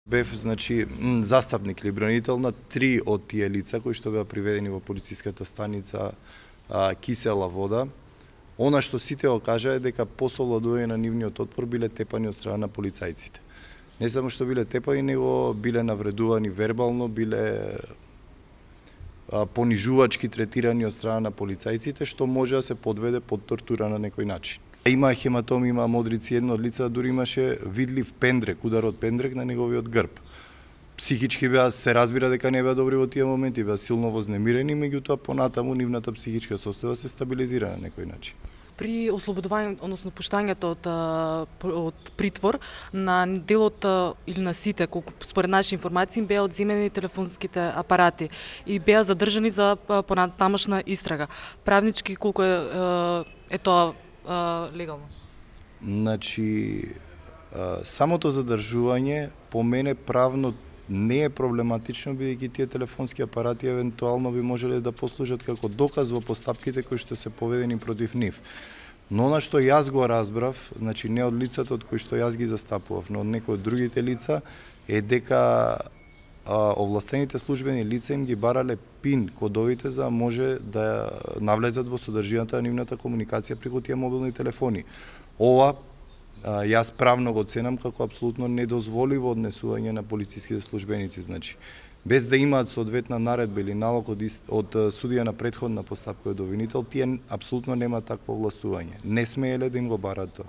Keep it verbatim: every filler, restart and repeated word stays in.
Бев, значи, застапник или бранител на три од тие лица кои што беа приведени во полициската станица а, Кисела вода. Она што сите го кажа е дека по совладување на нивниот отпор биле тепани од страна на полицајците. Не само што биле тепани, него биле навредувани вербално, биле а, понижувачки третирани од страна на полицајците, што може да се подведе под тортура на некој начин. Има хематом, има модрици, едно од лица дури имаше видлив пендрек, удар од пендрек на неговиот грб. Психички беа, се разбира дека не беа добри во тие моменти, беа силно вознемирени, меѓутоа понатаму нивната психичка состојба се стабилизира на некој начин. При ослободување, односно пуштањето од, од притвор на делот или на сите, колку според наши информации беа одземени телефонските апарати и беа задржани за понатамошна истрага. Правнички колку е, е тоа легално? Значи, самото задржување по мене правно не е проблематично, бидејќи тие телефонски апарати евентуално би можеле да послужат како доказ во постапките кои што се поведени против нив. Но она што јас го разбрав, значи не од лицата од кои што јас ги застапував, но од некои од другите лица, е дека а, овластените службени лица им ги барале пин кодовите за да може да навлезат во содржината на нивната комуникација преку тие мобилни телефони. Ова а, јас правно го ценам како апсолутно недозволиво однесување на полициските службеници, значи без да имаат соодветна наредба или налог од, од судија на претходна постапка од обвинител, тие апсолутно нема такво овластување. Не смееле да им го барат тоа.